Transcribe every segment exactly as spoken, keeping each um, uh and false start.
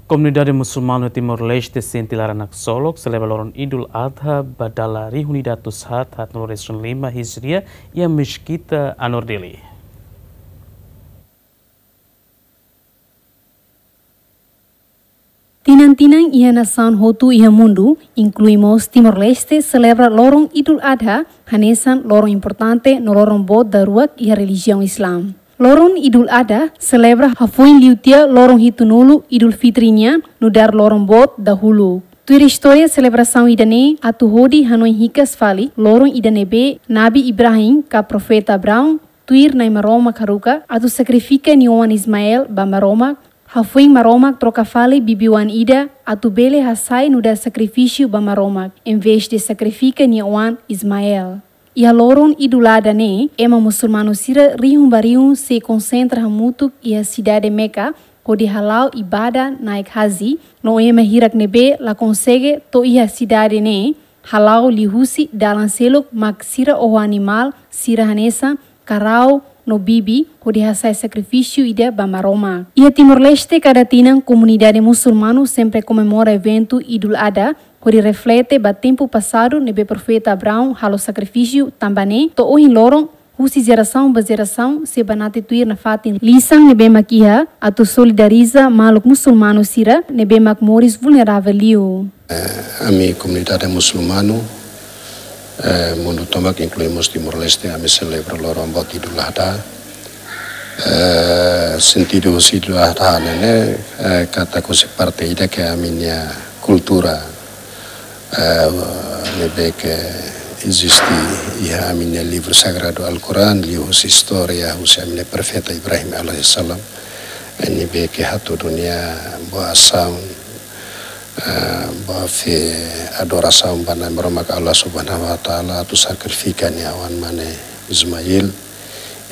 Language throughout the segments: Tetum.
Komunidade musulmanu Timor-Leste sente laran haksolok selebra loron Idul Adha ba dala rihun ida atus haat haatnulu resin lima Hijriah iha Meskita Anwar Dili. Tinan-tinan iha nasaun hotu iha mundu, inklui mós Timor-Leste, selebra loron Idul Adha hanesan loron importante no loron boot daruak iha relijiaun Islam. Loron Idul Adha selebra hafoin liu tiha loron hitunulu Idul Fitri nian nu'udar loron boot dahuluk. Tuir istória selebrasaun ida-ne'e atu hodi hanoin hikas fali loron ida ne'ebé Nabi Ibrahim ka Profeta Abraão tuir Na'i Maromak haruka atu sakrifika nia oan Ismael ba Maromak, hafoin Maromak troka fali bibi-oan ida atu bele hasai nu'udar sakrifísiu ba Maromak, envezde sakrifika nia oan Ismael. Iha loron Idul Adha ne'e, ema musulmanu sira rihun ba rihun sei konsentra hamutuk iha sidade Meka, hodi hala'o ibada naik haji, no ema hirak ne'ebé la konsege to'o iha sidade ne'e, hala'o liuhusi dalan seluk mak sira oho animál sira hanesan karau no bibi hodi hasai sakrifísiu ida ba Maromak. Iha Timor-Leste kada tinan komunidade musulmanu sempre komemora eventu Idul Adha hodi reflete ba tempu pasadu ne'ebé Profeta Abraão halo sakrifísiu tanba ne'e to'o ohin loron husi jerasaun ba jerasaun sei banati tuir nafatin lisan ne'ebé mak iha atu solidariza maluk musulmanu sira ne'ebé mak moris vulneravel liu. Eh, ami komunidade musulmanu, eh, mundu tomak inklui mós Timor-Leste, ami selebra loron boot Idul Adha. Eh, sentidu husi Idul Adha ne'e, eh, katak husi parte ida ke ami-nia kultura, eh, ne'ebé ke eziste iha ami-nia livru sagradu Al-Quran, liuhusi istória husi ami-nia Profeta Ibrahim alaihissalam, eh, ne'ebé ke hatudu nia boa asaun, eh, boa fé, adorasaun ba Na'i Maromak Allah Subhanahu wa Ta'ala, atu sakrifika nia oan mane Ismail,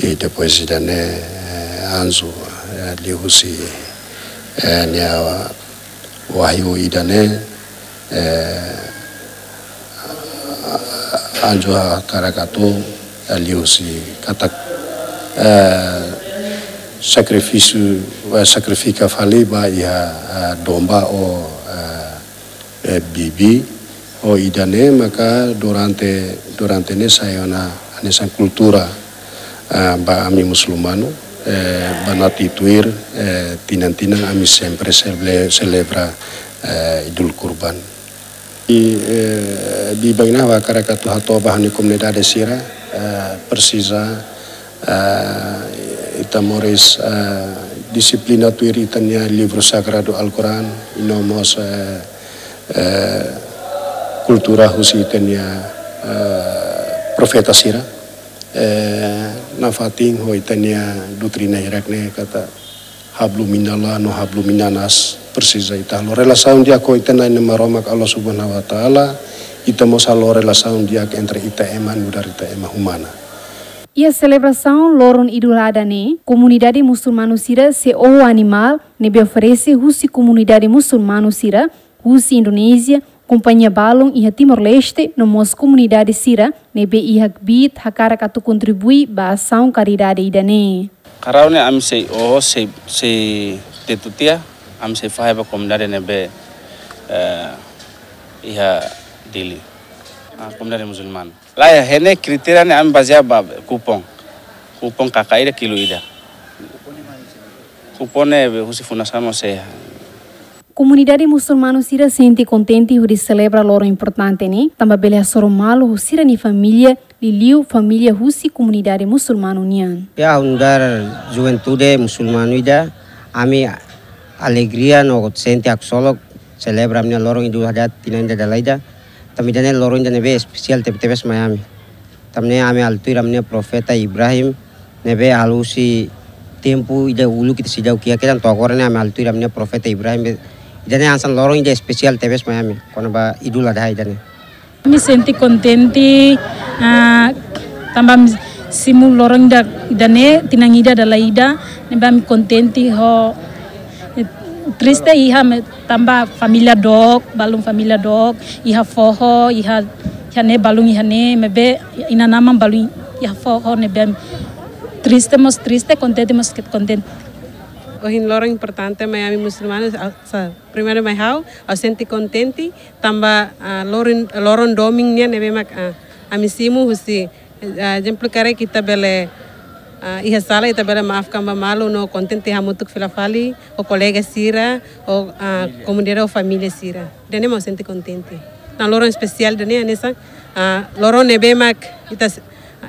i depois ida-ne'e, eh, anju, eh, liuhusi, eh, nia wahyu ida-ne'e, eh, anju hakarak atu, eh, liuhusi katak, eh, sakrifísiu, eh, sakrifika fali ba iha, eh, domba ou, eh, eh, bibi, ou ida-ne'e maka durante, durante ne'e sai ona hanesan kultura, eh, ba ami musulmanu, eh, banati tuir, eh, tinan-tinan ami sempre sele-, selebra, eh, Idul Kurban. I, eh, bibain ne'e ha'u hakarak atu hato'o ba ha'u-nia komunidade sira, eh, presiza, eh, ita moris, eh, dixiplina tuir ita-nia livru sagradu Al-Quran, i no mós, eh, eh, kultura husi ita-nia, eh, profeta sira. Eh, nafatin ho ita-nia doutrina hirak ne'e katak hablum minallah no hablum minannas, presiza ita halo relasaun di'ak ho ita-nia Na'i Maromak Allah Subhanahu wa Ta'ala, ita mós halo relasaun di'ak entre ita ema nu'udar ita ema umana. Iha selebrasaun loron Idul Adha ne'e, komunidade musulmanu sira sei oho animál ne'ebé oferese husi komunidade musulmanu sira husi Indonézia, kompañia balun iha Timor-Leste, no mós komunidade sira ne'ebé iha kbiit hakarak atu kontribui ba asaun karidade ida-ne'e. Karau ne'e ami sei oho, sei, sei tetu tiha, ami sei fahe ba komunidade ne'ebé, eh, iha Dili. Ah, komunidade musulmanu. Lae, iha ne'e kritéria ne'e ami bazeia ba kupon. Kupon kaka ida kilu ida. Kupon ne'e be husi fundasaun mós sei. Komunidade musulmanu sira sente kontente hodi selebra loron importante ne'e, tanba bele hasoru malu ho sira-nia família, liuliu família husi komunidade musulmanu nian. Ya, nu'udar juventude musulmanu ida, ami alegria no sente haksolok selebra ami-nia loron Idul Adha tinan ida dala ida. Tanba ida-ne'e loron ida ne'ebé espesiál tebe-tebes mai ami. Tanba ne'e ami halo tuir ami-nia profeta Ibrahim, ne'ebé halo husi tempu ida uluk ita seidauk iha kedan to'o agora ne'e ami halo tuir ami-nia profeta Ibrahim be. Ida-ne'e hanesan loron ida espesiál tebes mai ami, kona-ba Idul Adha ida-ne'e. Ami sente kontente, ah, tanba ami simu loron ida, ida-ne'e, tinan ida dala ida, ne'ebé ami kontente ho, eh, triste iha me-, tanba família dook, balun família dook, iha foho, iha, iha ne'e balun iha ne'e, maibé inan-aman balun iha foho ne'ebé triste mós triste, kontente mós kontente. Ohin loron importante mai ami musulmanu, ah, sa, primeiru mai ha'u, ha'u sente kontente, tanba, ah, loron, loron domin nian ne'ebé mak, ah, ami simu husi, ah, ezemplu karik ita bele, ah, iha sala ita bele maafkan ba malu no kontente hamutuk fila fali, ho kolega sira, ho, ah, komunidade ho família sira. Ida-ne'e mak ha'u sente kontente. Tan loron espesiál ida-ne'e hanesan, ah, loron ne'ebé mak ita,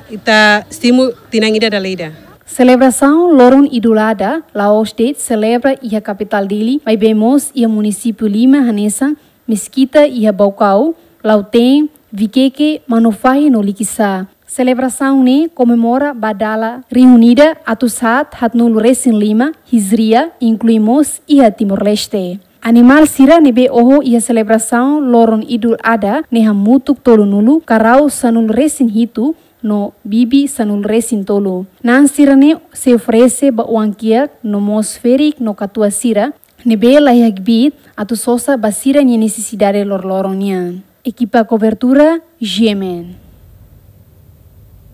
ita simu tinan ida dala ida. Selebrasaun loron Idul Adha la'ós de'it selebra iha kapitál Dili, maibé mós iha munisípiu lima hanesan Mesquita iha Baucau, Lautém, Viqueque, Manufahi no Liquiçá. Selebrasaun ne'e komemora ba dala rihun ida atus haat haatnulu resin lima Hijria, inklui mós iha Timor-Leste. Animál sira ne'ebé oho iha selebrasaun loron Idul Adha ne'e hamutuk tolunulu, karau sanulu resin hitu, no bibi sanulu resin tolu. Na'an sira-ne'e sei oferese ba oan-kiak no mós ferik no katuas sira ne'ebé laiha kbiit atu sosa ba sira-nia nesesidade loroloron nian. Ekipa kobertura, G M N.